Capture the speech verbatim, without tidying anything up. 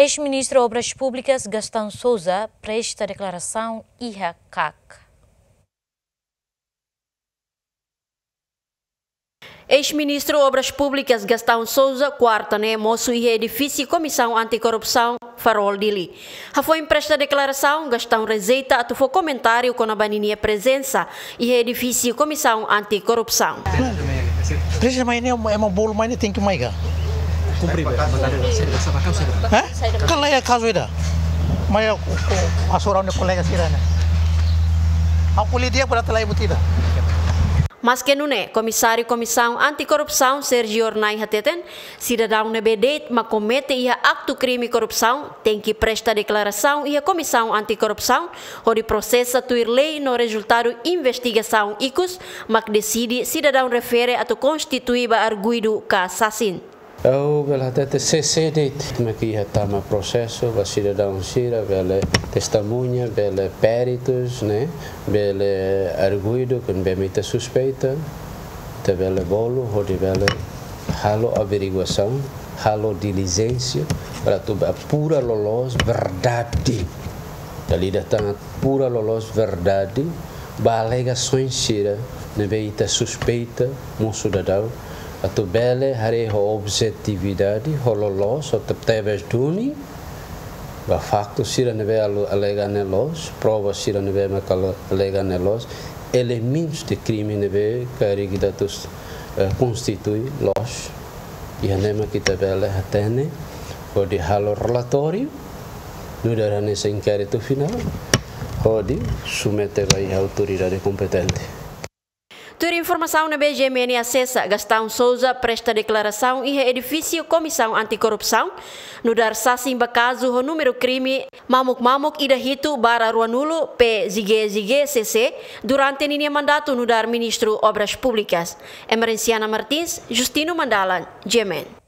Eis-Ministru Obras Públikas Gastão Sousa presta deklarasaun iha KAK. Eis-Ministru Obras Públikas Gastão Sousa, kuarta ne'e, mosu iha edifísiu Komisaun Anti-Korrupsaun, Farol, Dili. Hafoin presta deklarasaun, Gastão rejeita atu fó komentáriu kona-ba ninia prezensa iha edifísiu Komisaun Anti-Korrupsaun. Prezensa mai ne'e, ema bolu mai ne'e tenke mai ka? Kumpre, be, mandadu, saida, saida, saida. Hah? Kala iha kazu ida. Mai aku, aku asura ne'e kolega sira ne'e. Aku lidia pada telai butida. Maske nune'e, Komisáriu Komisaun Anti-Korrupsaun, Sérgio Hornai, hateten, sidadaun ne'ebé de'it mak komete iha aktu krime korrupsaun tenke presta deklarasaun iha Komisaun Anti-Korrupsaun, hodi prosesa tuir lei no rezultadu investigasaun ikus mak deside sidadaun refere atu konstitui ba arguidu ka sasin. Ha'u bele hatete C C de'it mak iha tama prosesu ba sidadaun sira bele testemuña, bele peritus, ne'e, bele arguidu, kuandu ema ita suspeita, ita bele bolu, hodi bele halo averiguasaun, halo dilijénsia, para atu ba apura loloos verdade. Dala ida tan apura loloos verdade ba alegasaun sira ne'ebé ita suspeita, mosu daudaun, atu bele haree ho objetividade, ho loloos, ho tebetebes duni, ba faktu sira ne'ebé alu-, alega ne'e loos, prova sira ne'ebé mak alu-, alega ne'e loos, elementus de krime ne'ebé karik ita atu, eh, konstitui loos. Iha ne'e mak ita bele hatene, hodi halo relatóriu, nu'udar hanesan inkéritu finál, hodi submete ba iha autoridade kompetente. Tuir informasaun ne'ebé G M N asesa, Gastão Sousa presta deklarasaun iha edifísiu Komisaun Anti-Korrupsaun, nu'udar sasin ba kazu ho númeru krime mamuk mamuk ida hitu barra ruanulu P Z G Z G C C durante ninia mandatu nu'udar Ministru Obras Públikas. Emerenciana Martins, Justino Mandalan, G M N.